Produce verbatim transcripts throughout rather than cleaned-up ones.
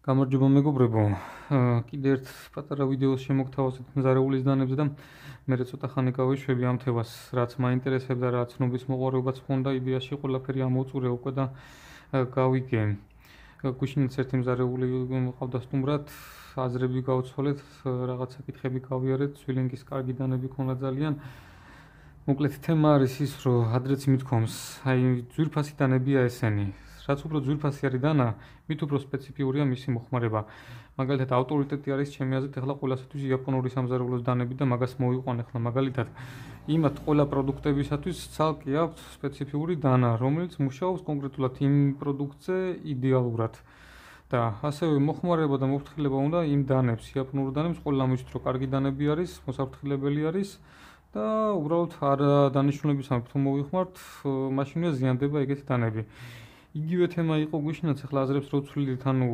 გამარჯობა მეგობრებო, კიდე ერთ პატარა ვიდეოს შემოგთავაზეთ მზარეულის დანებზე და მე ცოტა ხანი გავიშვები ამ თემას, რაც მაინტერესებდა, რაც ცნობის მოყვარეობაც მქონდა, იდეაში ყველაფერი ამოვწურე უკვე და გავიგე. Გუშინაც ერთი მზარეული მყავდა სტუმრად, აზრები გავცვალეთ, რაღაც საკითხები გავიარეთ, სვილინგის კარგი დანები ქონდა ძალიან. Მოკლედ თემა არის ის, რომ ადრეც მithkoms, აი ძვირფასი დანებია ესენი. რაც უფრო ძვირფასი არის დანა, მით უფრო სპეციფიურია მისი მოხმარება. მაგალითად, ავტორიტეტი არის ჩემი აზრით ახლა ყველასათვის იაპონური სამზარეულოს დანები და მაგას მოვიყვან ახლა მაგალითად. იმათ ყველა პროდუქტებისათვის ცალკე აქვს სპეციფიური დანა, რომელიც მუშაობს კონკრეტულად იმ პროდუქტზე იდეალურად. და ასევე მოხმარება და მოფრთხილება უნდა იმ დანებს, იაპონურ დანებს, ყველა მისთვის რომ კარგი დანები არის, მოსაფრთხილებელი არის და უბრალოდ არ დანიშნულებისამებრ თუ მოვიხმართ, მაშინვე ზიანდება ეგეთი დანები. იგივე თემა იყო გუშინაც, ახლა აზრებს რო ვცვლიდით, ანუ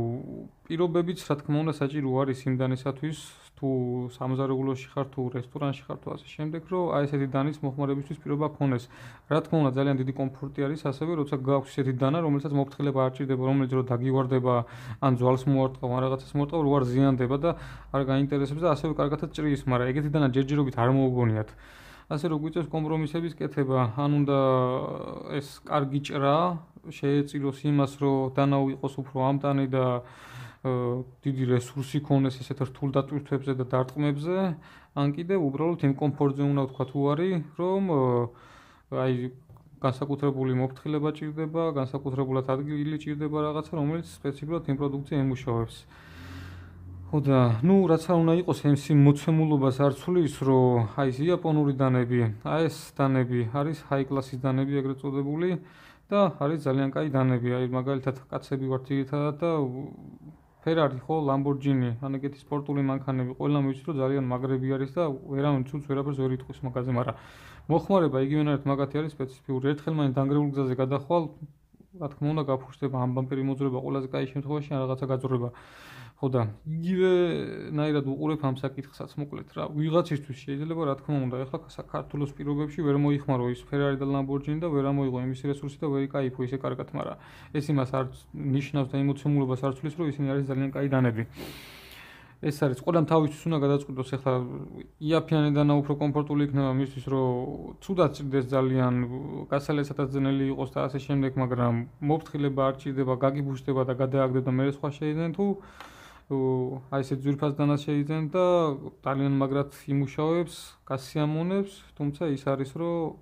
პირობებიც რა თქმა უნდა საჭირო არის იმ დანისათვის, თუ სამზარეულოში ხარ, თუ რესტორანში ხარ, თუ ასე შემდეგ, რომ აი ესეთი დანის მოხმარებისთვის პირობა გქონდეს. რა თქმა უნდა, ძალიან დიდი კომფორტი არის ასევე, როცა გაქვს ესეთი დანა, რომელსაც მოფრთხილება არ ჭირდება, რომელიც რო დაგივარდება, ან ძვალს მოარტყავ, ან რაღაცას მოარტყავ, რო არ ზიანდება და არ გაინტერესებს და ასევე კარგადაც ჭრის, მაგრამ ეგეთი დანა ჯერჯერობით არ მოუგონიათ. ასე რომ გვიწევს კომპრომისების კეთება, ან უნდა ეს კარგი ჭრა შეეწიროს იმას, რომ დანა იყოს უფრო ამტანი და დიდი რესურსი ქონდეს ესეთ რთულ დატვირთვებზე და დარტყმებზე, ან კიდევ უბრალოდ იმ კომფორტზე უნდა ვთქვა თუ არის, რომ აი განსაკუთრებული მოფრთხილება ჭირდება, განსაკუთრებულად ადგილი ჭირდება რაღაცა, რომელიც სპეციფიკურად იმ პროდუქტზე ემუშავებს. ხო და, ნუ რაც არ უნდა იყოს, ეს მოცემულობას არ ცვლის, რომ აი ეს იაპონური დანები, აი ეს დანები არის high class-ის დანები ეგრეთ წოდებული და არის ძალიან კაი დანები, აი მაგალითად კაცები ვართ ძირითადად და Ferrari ხო, Lamborghini, ან ეგეთი სპორტული მანქანები, ყველა მივიცით რომ ძალიან მაგრები არის და ვერავინ ცუც ვერაფერს ვერ იტყვის მაგაზე, მაგრამ მოხმარება იგივენაირად მაგათი არის სპეციფიური. ერთხელ მაინც დანგრეულ გზაზე გადახვალ, რა თქმა უნდა გაფუშდება ამ ბამპერი მოძრება ყველაზე კაი შემთხვევაში ან რაღაცა გაძრება. ხო და იგივენაირად უყურებ ამ საკითხსაც მოკლედ რა. ვიღაცისთვის შეიძლება რა თქმა უნდა, ახლა საქართველოს პირობებში ვერ მოიხმარო ის Ferrari და Lamborghini და ვერ ამოიღო იმის რესურსი და ვერ იკაიფო ისე კარგად, მაგრამ ეს იმას არ ნიშნავს და ემოცემულობას არ ცვლის, რომ ისინი არის ძალიან კაი დანები. ეს არის ყველამ თავისთვის უნდა გადაწყვიტოს, ახლა იაფიანი დანა უფრო კომფორტული იქნება მისთვის, რომ ცუდად ჭრდეს ძალიან, გასალესადაც ძნელი იყოს და ასე შემდეგ, მაგრამ მოფრთხილება არ ჭირდება, გაგიბუშდება და გადააგდებ და მე სხვა შეიძლება თუ აი ესე ძვირფას დანას შეიძლება და ძალიან მაგრად იმუშავებს, გასიამონებს, თუმცა ის არის, რომ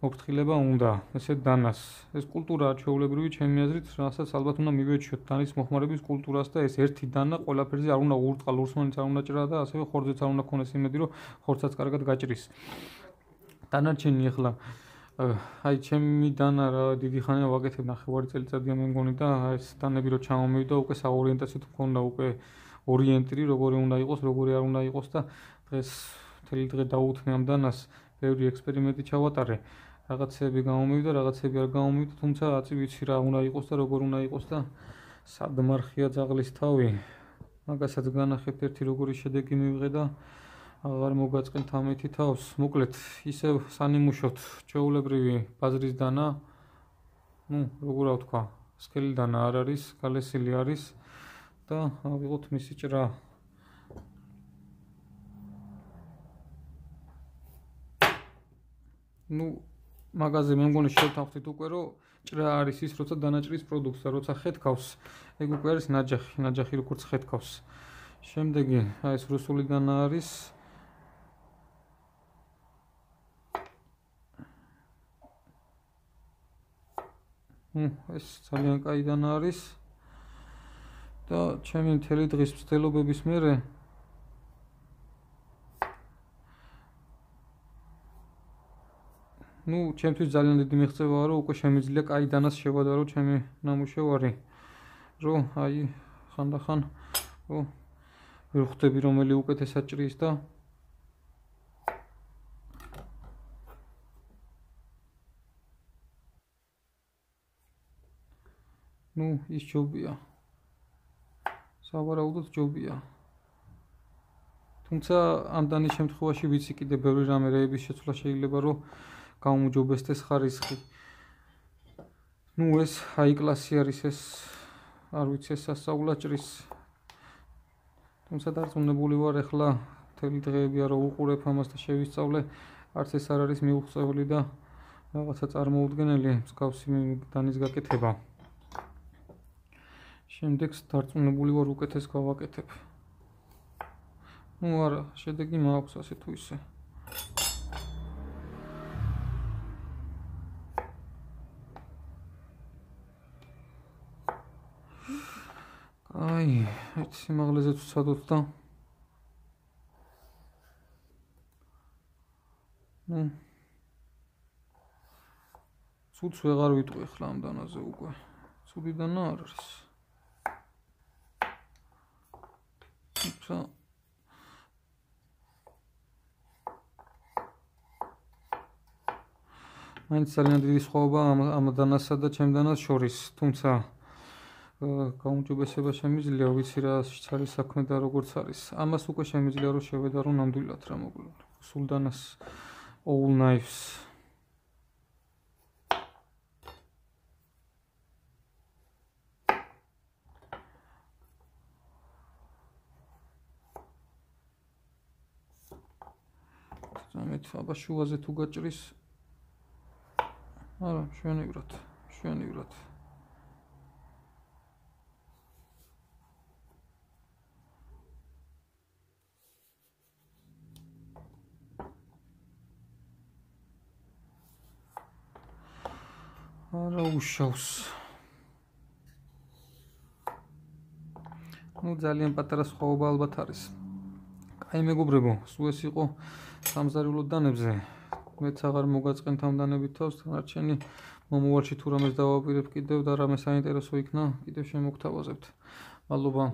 მოფრთხილება უნდა ესეთ დანას. ეს კულტურაა ჩვეულებრივი ჩემი აზრით, რასაც ალბათ უნდა მივეჩიოთ დანის მოხმარების კულტურას და ეს ერთი დანა ყველაფერზე არ უნდა ურტყა, ლურსმანიც არ უნდა ჭრა და ასევე ხორცეც არ უნდა ქონდეს იმედი, რომ ხორცაც კარგად გაჭრის. დანარჩენი ახლა აი ჩემი დანა რა დიდი ხანია ვაკეთებ, ნახევარი წელიწადია მე მგონი და ეს დანები რო ჩამომივიდა, უკვე საორიენტაციოდ მქონდა უკვე ორიენტირი, როგორი უნდა იყოს, როგორი არ უნდა იყოს და დღეს მთელი დღე დაუთმე ამ დანას, ბევრი ექსპერიმენტი ჩავატარე. რაღაცები გამომივიდა, რაღაცები არ გამომივიდა, თუმცა აწი ვიცი რა უნდა იყოს და როგორ უნდა იყოს და სად მარხია ძაღლის თავი. მაგასაც განახებთ ერთი როგორი შედეგი მივიღე და აღარ მოგაწყენთ ამეთი თავს. მოკლედ, ისევ სანიმუშოთ ჩვეულებრივი ბაზრის დანა, ნუ როგორ ვთქვა, სქელი დანა არ არის, გალესილი არის და ავიღოთ მისი ჭრა. ნუ მაგაზე მე მგონი შევთანხმდით უკვე, რომ ჭრა არის ის, როცა დანაჭრის პროდუქტს და როცა ხეთქავს, ეგ უკვე არის ნაჯახი, ნაჯახი როგორც ხეთქავს. შემდეგი, აი ეს რუსული დანა არის. ეს ძალიან კაი დანა არის და ჩემი მთელი დღის მცდელობების მერე ნუ ჩემთვის ძალიან დიდი მიღწევაა, რომ უკვე შემიძლია კაი დანას შევადარო ჩემი ნამუშევარი, რომ აი ხანდახან რომ ვერ ხვდები რომელი უკეთესად ჭრის და ნუ ის ჯობია. სავარაუდოდ ჯობია. თუმცა ამ დანის შემთხვევაში ვიცი კიდე ბევრი რამე რეების შეცვლა შეიძლება, რომ გაუმჯობესდეს ხარისხი. ნუ ეს high class-ი არის ეს, არ ვიცი ეს სასწაულად ჭრის თუმცა დარწმუნებული ვარ, ეხლა მთელი დღეებია რომ უყურებ ამას და შევისწავლე, არც ეს არ არის მიუღწეველი და რაღაცა წარმოუდგენელი მსგავსი დანის გაკეთება. შემდეგს დარწმუნებული ვარ უკეთეს გავაკეთებ. ნუ არა, შედეგი მაქვს ასე თუ ისე. აი, ეს სიმაღლეზე ვცადოთ და ნუ ცუდს ვეღარ ვიტყვი ახლა ამ დანაზე უკვე. ცუდი დანა არ არის. თუმცა მაინც ძალიან დიდი სხვაობა ამ დანასა და ჩემ დანას შორის, თუმცა გაუმჯობესება შემიძლია, ვიცი რა არის საქმე და როგორც არის. ამას უკვე შემიძლია რომ შევედარო ნამდვილად რა მოკლედ. სულ დანას all knives. ამით აბა შუაზე თუ გაჭრის არა, შვენივრად, შვენივრად. არა უშავს. ნუ ძალიან პატარა სხვაობა ალბათ არის. კაი მეგობრებო, სულ ეს იყო სამზარეულო დანებზე. მეც აღარ მოგაწყენთ ამ დანებით თავს, დანარჩენი მომავალში თუ რამეს დავაპირებ კიდევ და რამე საინტერესო იქნა, კიდევ შემოგთავაზებთ. მადლობა.